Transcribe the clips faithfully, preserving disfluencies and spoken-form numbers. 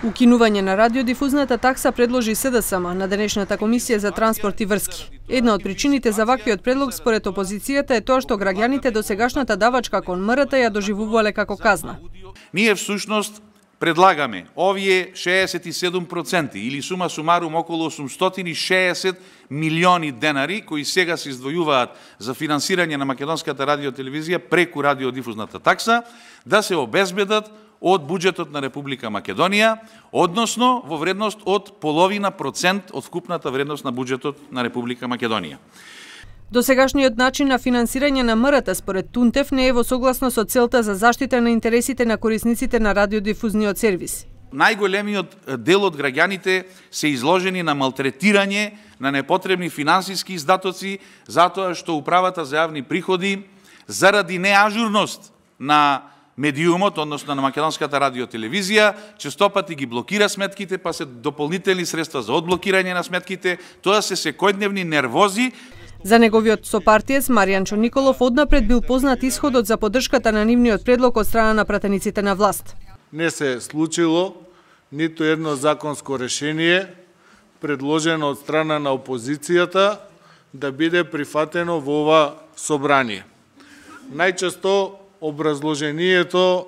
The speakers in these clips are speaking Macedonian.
Укинување на радиодифузната такса предложи СДСМ на денешната комисија за транспорт и врски. Една од причините за ваквиот предлог според опозицијата е тоа што граѓаните до сегашната давачка кон МРТ ја доживувале како казна. Ние всушност предлагаме овие шеесет и седум проценти или сума сумарум околу осумстотини и шеесет милиони денари кои сега се издвојуваат за финансирање на македонската радиотелевизија преку радиодифузната такса да се обезбедат од буџетот на Република Македонија, односно во вредност од половина процент од вкупната вредност на буџетот на Република Македонија. Досегашниот начин на финансирање на МРТ според Тунтев не е во согласно со целта за заштита на интересите на корисниците на радиодифузниот сервис. Најголемиот дел од граѓаните се изложени на малтретирање, на непотребни финансиски издатоци, затоа што управата за јавни приходи заради неажурност на медиумот, односно на македонската радиотелевизија, честопати ги блокира сметките, па се дополнителни средства за одблокирање на сметките, тоа се секојдневни нервози. За неговиот сопартиец Маријанчо Николов однапред бил познат исходот за поддршката на нивниот предлог од страна на пратениците на власт. Не се случило ниту едно законско решение предложено од страна на опозицијата да биде прифатено во ова собрание. Најчесто образложението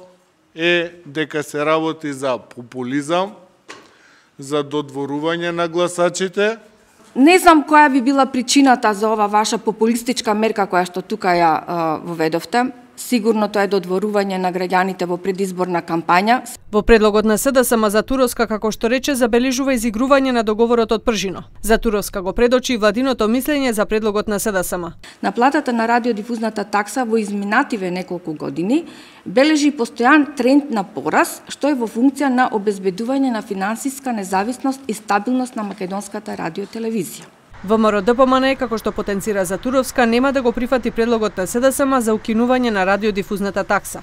е дека се работи за популизам, за додворување на гласачите. Не знам која би била причината за ова ваша популистичка мерка која што тука ја воведовте. Сигурно тоа е додворување на граѓаните во предизборна кампања. Во предлогот на СДСМ Затуровска, како што рече, забележува изигрување на договорот од Пржино. Затуровска го предочи владиното мислење за предлогот на СДСМ. Наплатата на радиодифузната такса во изминативе неколку години бележи постојан тренд на порас, што е во функција на обезбедување на финансиска независност и стабилност на македонската радиотелевизија. ВМРО-ДПМН, како што потенцира Затуровска, нема да го прифати предлогот на СДСМ за укинување на радиодифузната такса.